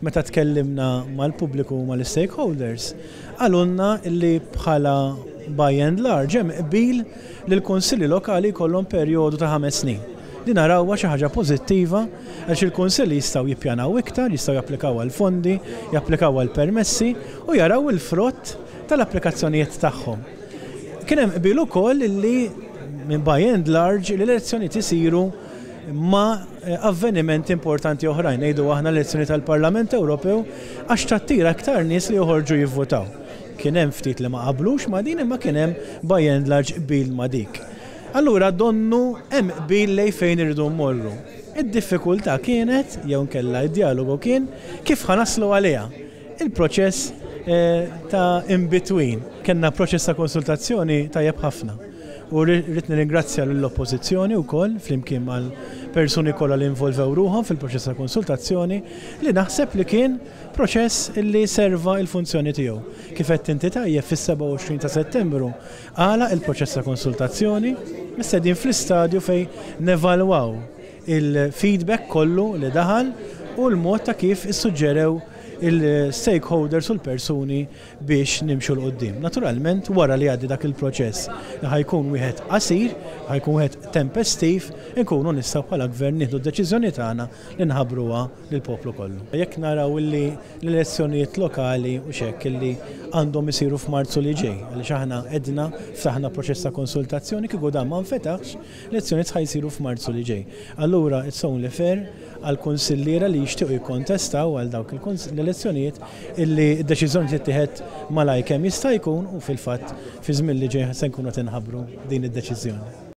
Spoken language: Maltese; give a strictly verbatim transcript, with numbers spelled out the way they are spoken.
Meta tkellimna mal-pubbliku u mal-stakeholders, qalulna li bħala by and large hemm qbil li l-kunsilli lokali jkollhom perjodu ta' ħames snin. Li narawha xi ħaġa pożittiva għax il-kunsilli jistgħu jippjanaw iktar, jistgħu japplikaw għal fondi, japplikaw għal permessi u jaraw il-frott tal-applikazzjonijiet tagħhom. Kien hemm qbil ukoll li minn by and large l-elezzjonijiet isiru ma' avvenimenti importanti oħrajn, ngħidu aħna l-elezzjoni tal-Parlament Ewropew, għax tattira aktar nies li joħorġu jivvotaw. Kien hemm ftit li ma qablux ma' din, imma kien hemm by and large qbil ma' dik. Allura donnu hemm qbil lejn fejn irridu mmorru. Id-diffikultà kienet, jew nkella id-dialogu kien, kif ħa naslu għaliha. Il-proċess ta' in between. Kellna proċess ta' konsultazzjoni tajjeb ħafna. U rrid nirringrazzja lill-Oppożizzjoni wkoll flimkien mal-persuni kollha li involvew ruħhom fil-proċess ta' konsultazzjoni, li naħseb li kien proċess li serva il-funzjoni tiegħu. Kif qed inti tajjeb, fis-sebgħa u għoxrin ta' Settembru għala il-proċess ta' konsultazzjoni, issa din fl-istadju fejn nevalwaw il-feedback kollu li daħal u l-mod ta' kif issuġġerew il-stakeholders u l-persuni biex nimxu 'l quddiem. Naturalment, wara li għaddi dak il-proċess li ħa jkun wieħed qasir, ħa jkun wieħed tempestiv, inkunu nistgħu bħala gvern nieħdu d-deċiżjoni tagħna li nħabbruha lill-poplu kollu. Jekk naraw illi l-elezzjonijiet lokali u xek illi għandhom isiru f'Marzu li ġej, għaliex aħna edna ftaħna proċess ta' konsultazzjoni, kieku dan ma nfetaħx, l-elezzjonijiet ħa jsiru f'Marzu li ġej. Allura it's only fair għal kunsilliera li jixtiequ jikkontestaw għal dawk l-elezzjonijiet illi d-deċiżjoni tittieħed malajr kemm jista' jkun, u fil-fatt fi żmien li ġej se nkunu tinħabbru din id-deċiżjoni.